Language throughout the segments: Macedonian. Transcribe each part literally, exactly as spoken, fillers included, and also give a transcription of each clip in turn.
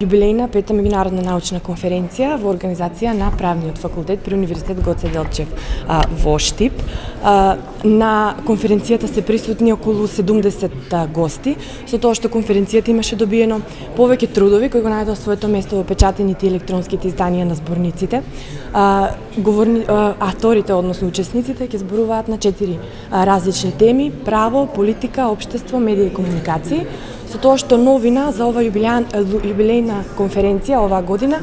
Јубилејна пета меѓународна научна конференција во организација на Правниот факултет при Универзитет Гоце Делчев а, во Штип. А, на конференцијата се присутни околу седумдесет гости, со тоа што конференцијата имаше добиено повеќе трудови кои го најдоа своето место во печатените и електронските изданија на зборниците. А, говорни, а, авторите, односно учесниците, ќе зборуваат на четири а, различни теми: право, политика, општество, медија и комуникации. Со тоа што новина за ова јубилејна конференција оваа година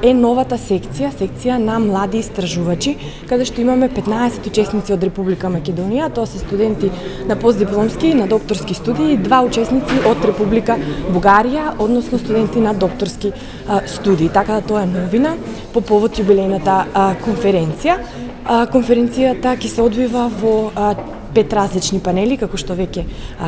е новата секција, секција на млади истражувачи, каде што имаме петнаесет учесници од Република Македонија. Тоа се студенти на постдипломски и на докторски студии, два учесници од Република Бугарија, односно студенти на докторски студии. Така да тоа е новина по повод јубилејната конференција. Конференцијата ќе се одвива во пет различни панели, како што веќе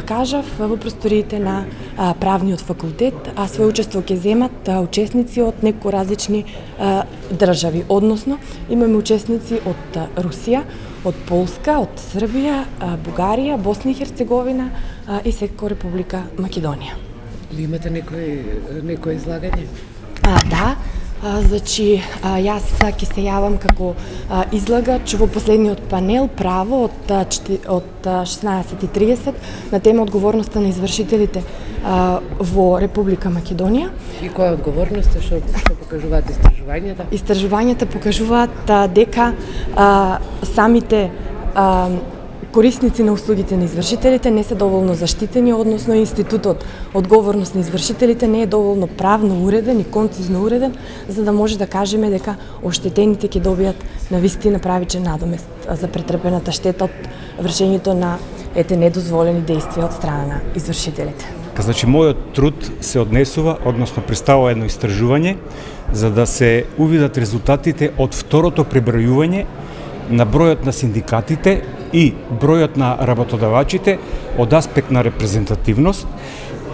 кажав, во просториите на а, Правниот факултет, а свој учество ќе земат а, учесници од неколку различни а, држави, односно имаме учесници од а, Русија, од Полска, од Србија, а, Бугарија, Босна и Херцеговина а, и секако Република Македонија. Ви имате некој некој излагање? А, да. А, значи, а, јас ќе се јавам како а, излагач во последниот панел право од, од шеснаесет и тридесет на тема одговорноста на извршителите а, во Република Македонија. И која е одговорноста, што, што покажуваат истражувањата? Истражувањата покажуваат а, дека а, самите а, корисници на услугите на извршителите не се доволно заштитени, односно институтот одговорност на извршителите не е доволно правно уреден и концизно уреден, за да може да кажеме дека оштетените ќе добијат навистина правичен надомест за претрпената штета од вршењето на ете недозволени действија од страна на извршителите. Значи, мојот труд се однесува, односно представува едно истражување, за да се увидат резултатите од второто пребројување на бројот на синдикатите и бројот на работодавачите од аспект на репрезентативност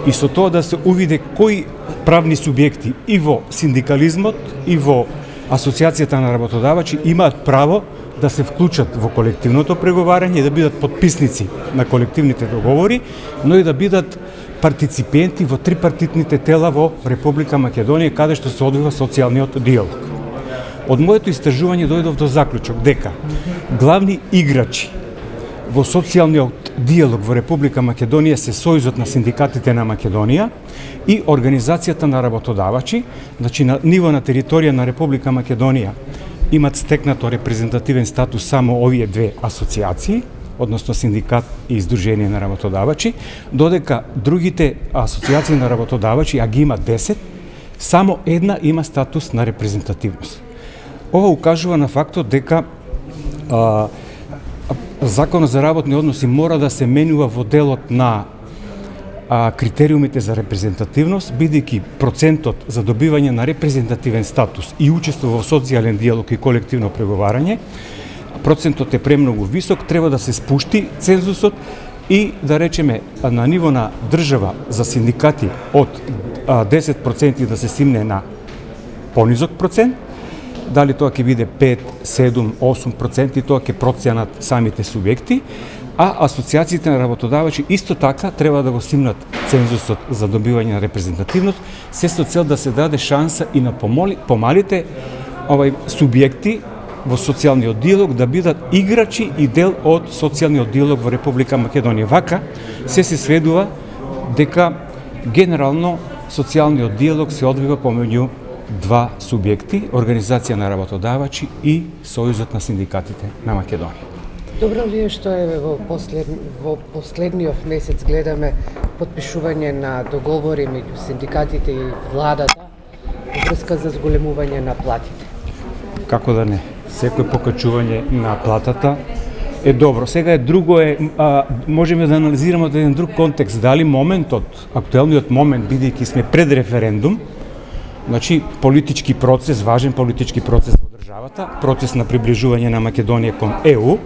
и со тоа да се увиде кои правни субјекти и во синдикализмот и во асоциацијата на работодавачи имаат право да се вклучат во колективното преговарање и да бидат подписници на колективните договори, но и да бидат партиципенти во трипартитните тела во Република Македонија, каде што се одвива социјалниот диалог. Од моето истражување дојдов до заклучок дека главни играчи во социјалниот диалог во Република Македонија се Сојузот на синдикатите на Македонија и Организацијата на работодавачи, значи на ниво на територија на Република Македонија имат стекнато репрезентативен статус само овие две асоциации, односно синдикат и издружение на работодавачи, додека другите асоциации на работодавачи, а ги има десет, само една има статус на репрезентативност. Ова укажува на фактот дека а, Законот за работни односи мора да се менува во делот на а, критериумите за репрезентативност, бидејќи процентот за добивање на репрезентативен статус и учество во социјален диалог и колективно преговарање, процентот е премногу висок, треба да се спушти цензусот и да речеме на ниво на држава за синдикати од а, десет проценти да се стигне на понизок процент. Дали тоа ќе биде пет, седум, осум проценти, тоа ќе проценат самите субјекти, а асоциациите на работодавачи исто така треба да го стигнат цензусот за добивање на репрезентативност, се со цел да се даде шанса и на помали, помалите овај субјекти во социјалниот диалог да бидат играчи и дел од социјалниот диалог во Република Македонија. Вака се се сведува дека генерално социјалниот диалог се одвива помеѓу два субјекти, Организација на работодавачи и Сојузот на синдикатите на Македонија. Добро ли е што е во, послед, во последниот месец гледаме подпишување на договори меѓу синдикатите и владата во врска за зголемување на платите? Како да не? Секој покачување на платата е добро. Сега е друго е, а, можеме да анализираме од еден друг контекст, дали моментот, актуелниот момент, бидејќи сме пред референдум, значи политички процес, важен политички процес во државата, процес на приближување на Македонија кон Е У,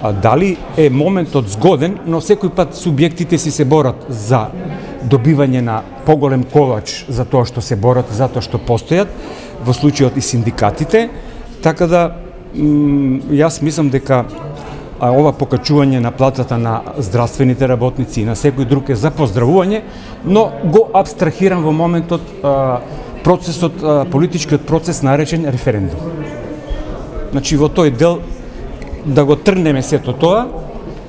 а дали е моментот згоден, но секој пат субјектите си се борат за добивање на поголем колач за тоа што се борат, за тоа што постојат, во случајот и синдикатите, така да јас мислам дека а ова покачување на платата на здравствените работници и на секој друг е за поздравување, но го абстрахирам во моментот а, процесот, а, политичкиот процес наречен референдум. Значи во тој дел да го тргнеме сето тоа,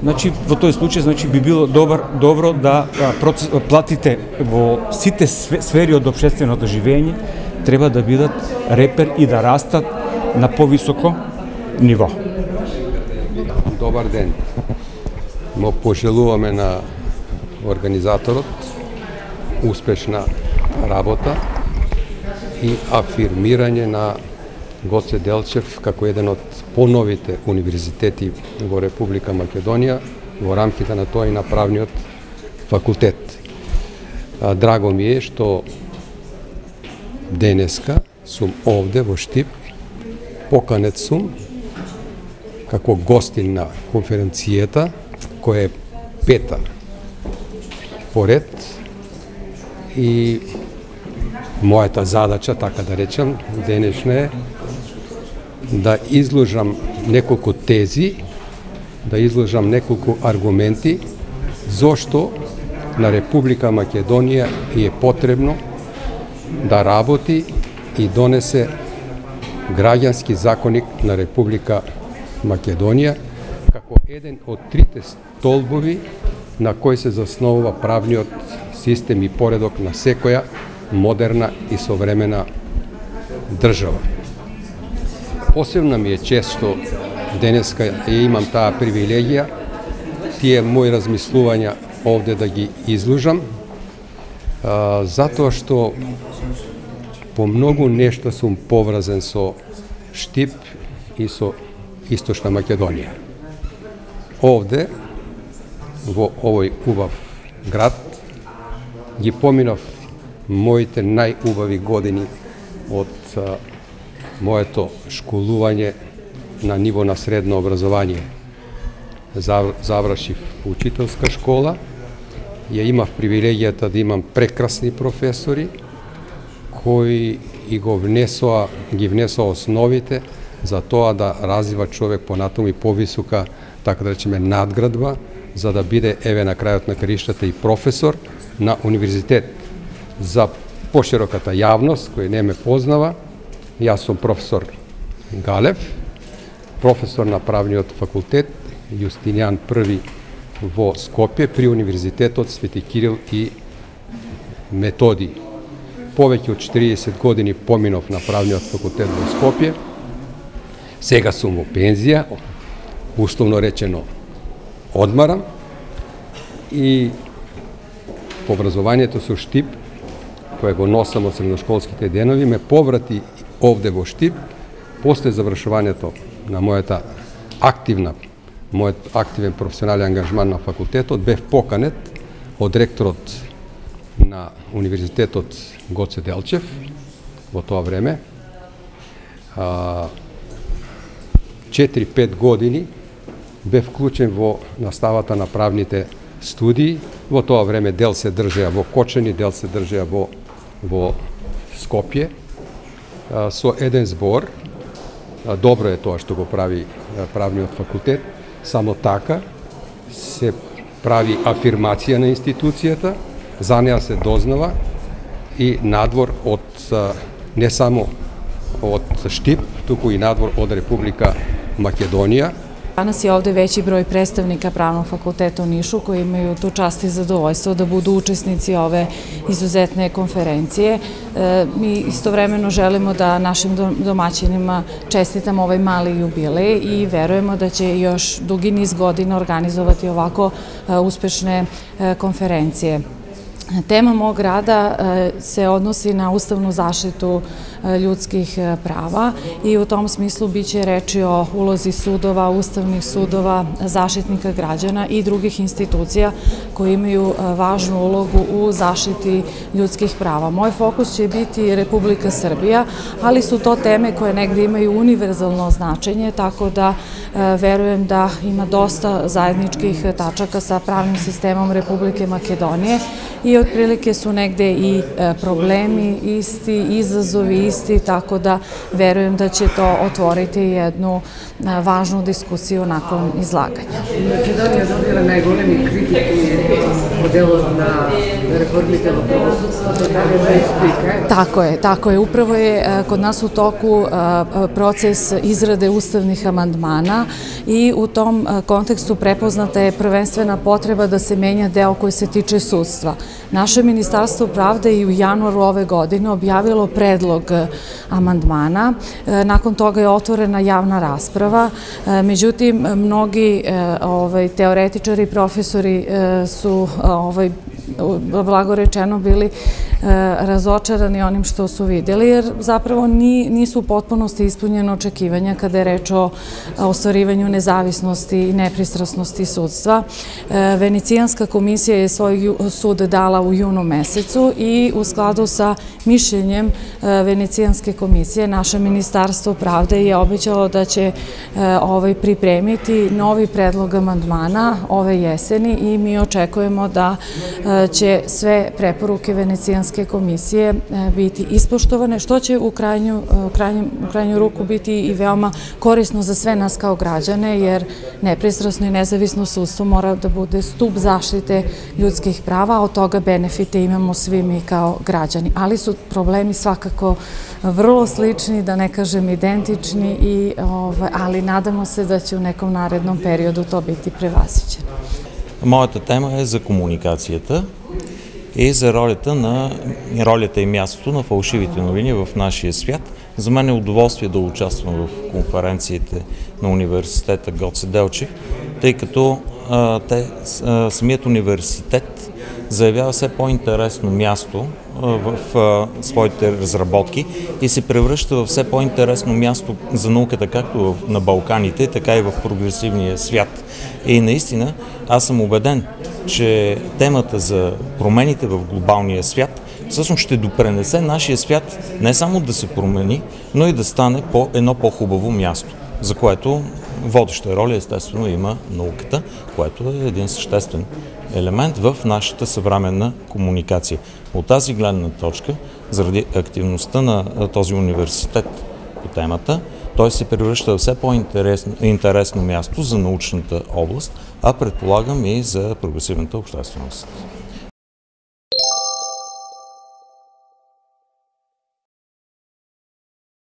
значи во тој случај значи би било добар добро да а, процес, платите во сите сфери од општественото живење треба да бидат репер и да растат на повисоко ниво. Добар ден. Му пожелуваме на организаторот успешна работа и афирмирање на Гоце Делчев како еден од поновите универзитети во Република Македонија во рамките на тој на правниот факултет. Драго ми е што денеска сум овде во Штип, поканет сум како гостин на конференцијата, која е пета поред, и мојата задача, така да речам, денешна е да изложам неколку тези, да изложам неколку аргументи зошто на Република Македонија е потребно да работи и донесе граѓански законик на Република Македонија како еден од трите столбови на кој се засновува правниот систем и поредок на секоја модерна и современа држава. Посебно ми е чест што денеска ја имам таа привилегија тие мои размислувања овде да ги изложам, а, затоа што по многу нешто сум поврзан со Штип и со Источна Македонија. Овде, во овој убав град, ги поминав моите најубави години од а, моето школување на ниво на средно образование. Завршив учителска школа, ја имав привилегијата да имам прекрасни професори кои и го внесоа, ги внесоа основите за тоа да развива човек понатаму и повисока, така да речеме, надградба, за да биде еве на крајот на краиштата и професор на универзитет. За пошироката јавност која не ме познава, јас сум професор Галев, професор на правниот факултет Јустинијан Први во Скопје при Универзитетот Свети Кирил и Методи. Повеќе од четириесет години поминав на правниот факултет во Скопје. Сега сум во пензија, условно речено одмарам, и по образованието со Штип, кое го носам од средношколските денови, ме поврати овде во Штип, после завршувањето на мојата активна, мојот активен професионален ангажман на факултетот, бев поканет од ректорот на Универзитетот Гоце Делчев во тоа време. четири-пет години бев вклучен во наставата на правните студии. Во тоа време дел се држеа во Кочани, дел се држеа во, во Скопје, со еден збор. Добро е тоа што го прави правниот факултет, само така се прави афирмација на институцијата, за неа се дознава и надвор од не само од Штип, туку и надвор од Република Македонија. Danas je ovde veći broj predstavnika Pravnog fakulteta u Nišu koji imaju tu čast i zadovoljstvo da budu učesnici ove izuzetne konferencije. Mi istovremeno želimo da našim domaćinima čestitamo ovaj mali jubilej i verujemo da će još dugi niz godina organizovati ovako uspešne konferencije. Tema mog rada se odnosi na ustavnu zaštitu ljudskih prava i u tom smislu biće reči o ulozi sudova, ustavnih sudova, zaštitnika građana i drugih institucija koji imaju važnu ulogu u zaštiti ljudskih prava. Moj fokus će biti Republika Srbija, ali su to teme koje negde imaju univerzalno značenje, tako da verujem da ima dosta zajedničkih tačaka sa pravnim sistemom Republike Makedonije i otprilike su negde i problemi isti, izazovi isti, tako da verujem da će to otvoriti jednu važnu diskusiju nakon izlaganja. Македонија добила најголеми критики по делот на реформите во правосудството, дали да explica? Tako je, tako je. Upravo je kod nas u toku proces izrade ustavnih amandmana i u tom kontekstu prepoznata je prvenstvena potreba da se menja deo koji se tiče sudstva. Naše Ministarstvo pravde i u januaru ove godine objavilo predlog amandmana, nakon toga je otvorena javna rasprava, međutim, mnogi ovaj, teoretičari i profesori su ovaj, blago rečeno bili razočarani onim što su vidjeli, jer zapravo nisu u potpunosti ispunjene očekivanja kada je reč o ostvarivanju nezavisnosti i nepristrasnosti sudstva. Venecijanska komisija je svoj sud dala u junu mesecu i u skladu sa mišljenjem Venecijanske komisije naše Ministarstvo pravde je obećalo da će ovaj pripremiti novi predlog amandmana ove jeseni i mi očekujemo da će sve preporuke Venecijanske komisije biti ispoštovane, što će u krajnju, u krajnju ruku biti i veoma korisno za sve nas kao građane, jer nepristrasno i nezavisno sudstvo mora da bude stub zaštite ljudskih prava, a od toga benefite imamo svi mi kao građani. Ali su problemi svakako vrlo slični, da ne kažem identični, i, ovaj, ali nadamo se da će u nekom narednom periodu to biti prevaziđeno. Моята тема е за комуникацията и за ролята, на, ролята и мястото на фалшивите новини в нашия свят. За мен е удоволствие да участвам в конференциите на университета Гоце Делчев, тъй като а, те, а, самият университет заявява все по-интересно място а, в а, своите разработки и се превръща в все по-интересно място за науката, както на Балканите, така и в прогресивния свят. И наистина аз съм убеден, че темата за промените в глобалния свят всъщност ще допренесе нашия свят не само да се промени, но и да стане по едно по-хубаво място, за което водеща роля естествено има науката, което е един съществен елемент в нашата съвременна комуникация. От тази гледна точка, заради активността на този университет по темата, той се превръща в все по-интересно място за научната област, а предполагам и за прогресивната общественост.